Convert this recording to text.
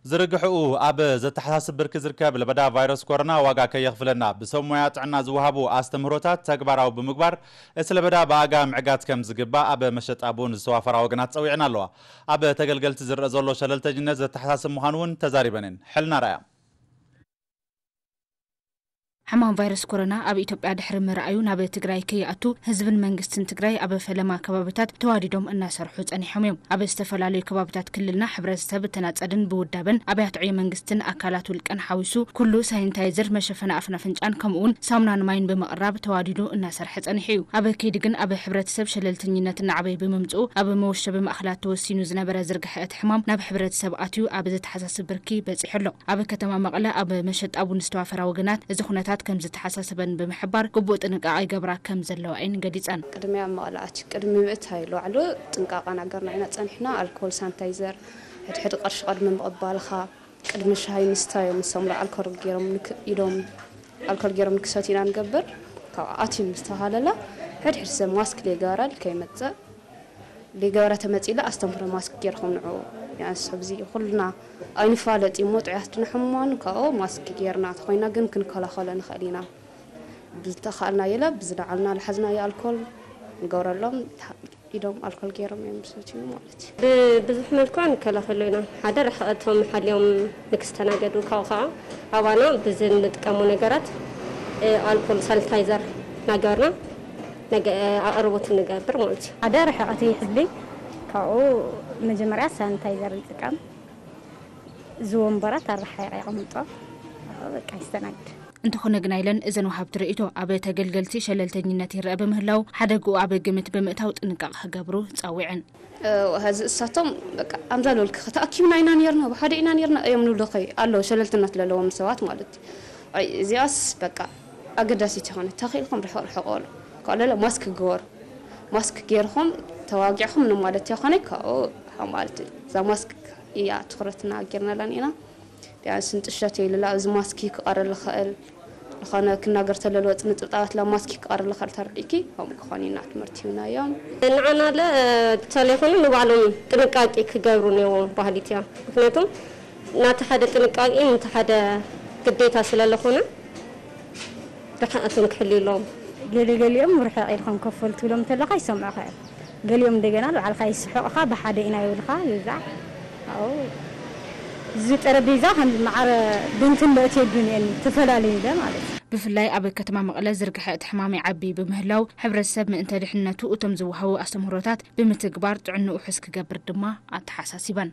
ዝርግሕኡ ኣብ ዘተሓሳስብ ብርኪ ዝርከብ ለበዳ ቫይረስ ኮሮና ዋጋ ከየኽፍለና፣ ብሰብ ሞያ ጥዕና ዝወሃቡ ኣስተምህሮታት ተግባራዊ ብምግባር፣ እቲ ለበዳ ብኣጋ ምዕጋት ከም ዝግባእ ኣብ መሸጣ ቡን ዝተዋፈራ ወገናት ጸዊዐን ኣለዋ። ኣብ ተገልገልቲ ዝረአ ዘሎ ሸለልተኝነት ዘተሓሳስብ ምዃኑ እውን ተዛሪበን እየን። ሕልና ረኣያ። ሕማም ቫይረስ ኮሮና ኣብ ኢትዮጵያ ድሕሪ ምርኣዩ ናብ ትግራይ ከይኣቱ ህዝብን መንግስትን ትግራይ ኣብ ፈለማ ከባብታት ተዋዲዶም እናሰርሑ ጸኒሖም እዮም። ኣብ ዝተፈላለዩ ከባብታት ክልልና ሕብረተሰብ ብተናጸልን ብውዳበን ኣብያተ ዕዮ መንግስትን ኣካላት ውልቀን ሓዊሱ ኩሉ ሳኒታይዘር፣ መሸፈኒ ኣፍን ኣፍንጫን ከምኡ እውን ሳሙናን ማይን ብምቕራብ ተዋዲዱ እናሰርሐ ጸኒሑ እዩ። ኣብ ከይዲ ግን ኣብ ሕብረተሰብ ሸለልተኝነት እናዓበየ ብምምፅኡ ኣብ መወሸቢ ማእኸላት ተወሲኑ ዝነበረ ዝርግሐ እቲ ሕማም ናብ ሕብረተሰብ ኣትዩ ኣብ ዘተሓሳስብ ብርኪ በፂሑ ኣሎ። ኣብ ከተማ መቐለ ኣብ መሸጣ ቡን ዝተዋፈራ ወገናት እዚ ኩነታት ከም ዝተሓሳሰበን ብምሕባር ግቡእ ጥንቃቐ ይገብራ ከም ዘለዋ እየን ገሊፀን። ቅድሚያ ኣብ መቐለ ኣትዩ ቅድሚ ምእታይ ላዕሉ ጥንቃቐ እናገርና ኢና ፀኒሕና። ኣልኮል፣ ሳኒታይዘር፣ ሕድሕድ ቅርሺ ቅድሚ ምቕባልኻ ቅድሚ ሻሂ ምስታዮም ንሶም ኣልኮል ገይሮም ንክ-፣ ኢዶም ኣልኮል ገይሮም ንክሰትዩ ኢና ንገብር። ካብ ኣትዩ ምስ ተሃለላ ሕድሕድ ሰብ ማስክ ዘይገበረ ከይመፅእ፣ ዘይገበረ ተመፂላ ኣስተምህሮ ማስክ ገይርኩም ንዑ። ያንስ ኣብዚ ኩልና ኣይንፋለጥ እሞ ጥዑያት ድና ሕሙማን ካብኡ ማስክ ገይርና ተኾይና ግን ክንከላኸሎ ንኽእል ኢና። ብዝተኻእልና የለ ብዝለዓልና ዝሓዝናዮ ኣልኮል ንገብረሎም። ኢዶም ኣልኮል ገይሮም እዮም ዝሰትዩ ማለት እዩ። ብብዙሕ መልክዑ ንከላኸሎ ኢና። ሓደ ርሕቐ እቶም ሓልዮም ንክስተናገዱ ካብኡ ከዓ ኣባና ብዚ እንጥቀሙ ነገራት፣ እ፣ ኣልኮል ሳኒታይዘር እናገበርና ነገ-፣ ኣቕርቦት ንገብር ማለት እዩ። ሓደ ርሕቐት ይሕሊ፣ ካብኡ መጀመርያ ሳኒታይዘር ይጥቀም፣ እዚ ወንበራት ኣረሓይቐ የቐምጦ፣ በቃ ይስተናግድ። እንተኾነ ግና ኢለን እዘን ወሃብቲ ርእይቶ ኣብ ተገልገልቲ ሸለልተኝነት ይረአ ብምህላው ሓደግኡ ኣብ ግምት ብምእታው ጥንቃቐ ክገብሩ ጸዊዐን። እ፣ ሀዚ እሳቶም በቃ ኣምዛ ልበልኪ ተኣኪብና ኢና ነርና፣ ብሓደ ኢና ነርና እዮም ንብሉ ኸይ ኣለዉ ሸለልትነት ለለዎም ሰባት ማለት እዩ። ኣይ፣ እዚኣስ በቃ ኣገዳሲት ይኾነ ተኽኢልኩም ርሕቕ ርሕቕ በሉ። ካልእ ማስክ ግበሩ። ማስክ ገይርኹም ተዋጊዕኹም ንማለት ይኾነ ካብኡ ማለት እዩ። እዛ ማስክ እያ ትኹረትና ገይርናላን ኢና። ቢያንስ ንጥሸት የልላ፣ እዚ ማስኪ ክቐርል ዝኽእል ዝኾነ ክናገር ተለሎ፣ ጽንጽብጣባት ላ ማስኪ ክቐርል ዝኽእል ተረዲእኪ፣ ከምኡ ክኾን ኢና ትምህርቲ ሂብናዮም። ንዓና ለ፣ ተለይኮኑ ንባዕሎም ጥንቃቄ ክገብሩ ነይዎም ባህሊት እያ። ምክንያቱም ናቲ ሓደ ጥንቃቄ፣ ነቲ ሓደ ግዴታ ስለለኾነ፣ ርሕቐቶም ክሕልዩ ኣለዎም። ገለ ገሊኦም ርሕቕ ኢልኩም ከፈል ትብሎም እንተለኻ ይሰምዑኻ እዮም። ገሊኦም እንደገና ንባዕልኻ ይስሕቑኻ፣ ብሓደ ኢና ይብልኻ፣ ይብዛዕ። ኣዎ፣ እዚ ጠረጴዛ ከም መዓረ ብንትን መእትየዱን እየን ተፈላለዩ ኢለ ማለት እዩ። ብፍላይ ኣብ ከተማ መቐለ ዝርግሐ እቲ ሕማም ይዓቢ ብምህላው፣ ሕብረተሰብ ምእንተ ድሕንነቱ እቶም ዝወሃቡ ኣስተምህሮታት ብምትግባር ጥዕንኡ ውሑስ ክገብር ድማ ኣተሓሳሲበን።